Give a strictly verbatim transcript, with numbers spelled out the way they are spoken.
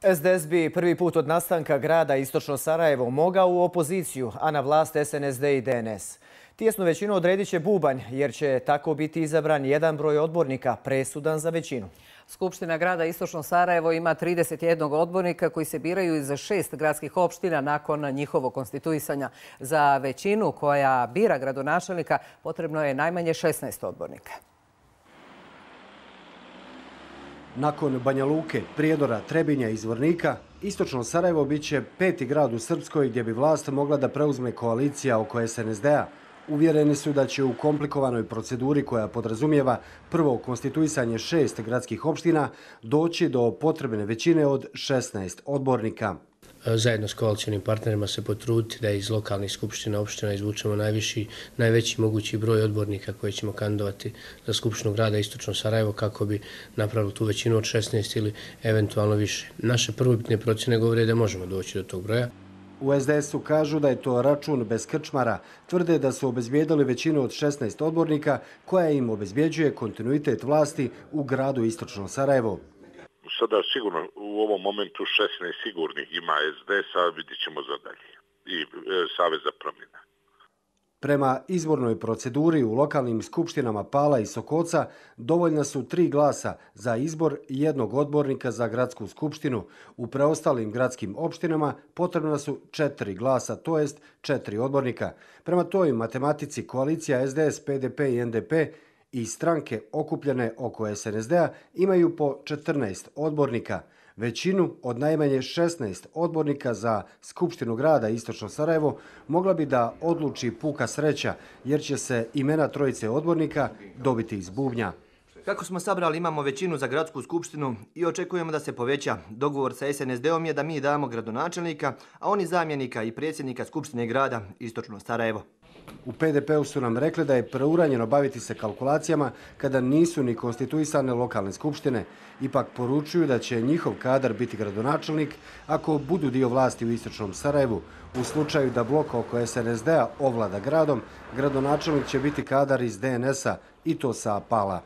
S D S bi prvi put od nastanka grada Istočno Sarajevo mogao u opoziciju, a na vlast S N S D i D N S. Tijesnu većinu odredit će bubanj, jer će tako biti izabran jedan broj odbornika presudan za većinu. Skupština grada Istočno Sarajevo ima trideset jedan odbornika koji se biraju iz šest gradskih opština nakon njihovog konstituisanja. Za većinu koja bira gradonačelnika potrebno je najmanje šesnaest odbornika. Nakon Banja Luke, Prijedora, Trebinja i Zvornika, Istočno Sarajevo bit će peti grad u Srpskoj gdje bi vlast mogla da preuzme koalicija oko S N S D-a. Uvjereni su da će u komplikovanoj proceduri koja podrazumijeva prvo konstituisanje šest gradskih opština doći do potrebne većine od šesnaest odbornika. Zajedno s koalicijnim partnerima se potruditi da iz lokalnih skupština opština izvučemo najviši, najveći mogući broj odbornika koje ćemo kandidovati za Skupštinu grada Istočno Sarajevo kako bi napravili tu većinu od šesnaest ili eventualno više. Naše prvobitne procjene govore da možemo doći do tog broja. U S D S-u kažu da je to račun bez krčmara. Tvrde da su obezbijedili većinu od šesnaest odbornika koja im obezbjeđuje kontinuitet vlasti u gradu Istočno Sarajevo. Sada sigurno u ovom momentu šesnaest sigurnih ima S D S-a, vidjet ćemo za dalje. I e, Savez za promjene. Prema izbornoj proceduri u lokalnim skupštinama Pala i Sokoca dovoljna su tri glasa za izbor jednog odbornika za gradsku skupštinu. U preostalim gradskim opštinama potrebna su četiri glasa, to jest četiri odbornika. Prema toj matematici koalicija S D S, P D P i N D P i stranke okupljene oko S N S D-a imaju po četrnaest odbornika. Većinu od najmanje šesnaest odbornika za Skupštinu grada Istočno Sarajevo mogla bi da odluči puka sreća, jer će se imena trojice odbornika dobiti iz bubnja. Kako smo sabrali, imamo većinu za gradsku skupštinu i očekujemo da se poveća. Dogovor sa S N S D-om je da mi damo gradonačelnika, a oni zamjenika i predsjednika Skupštine grada Istočno Sarajevo. U P D P-u su nam rekli da je preuranjeno baviti se kalkulacijama kada nisu ni konstituisane lokalne skupštine. Ipak poručuju da će njihov kadar biti gradonačelnik ako budu dio vlasti u Istočnom Sarajevu. U slučaju da blok oko S N S D-a ovlada gradom, gradonačelnik će biti kadar iz D N S-a i to sa Pala.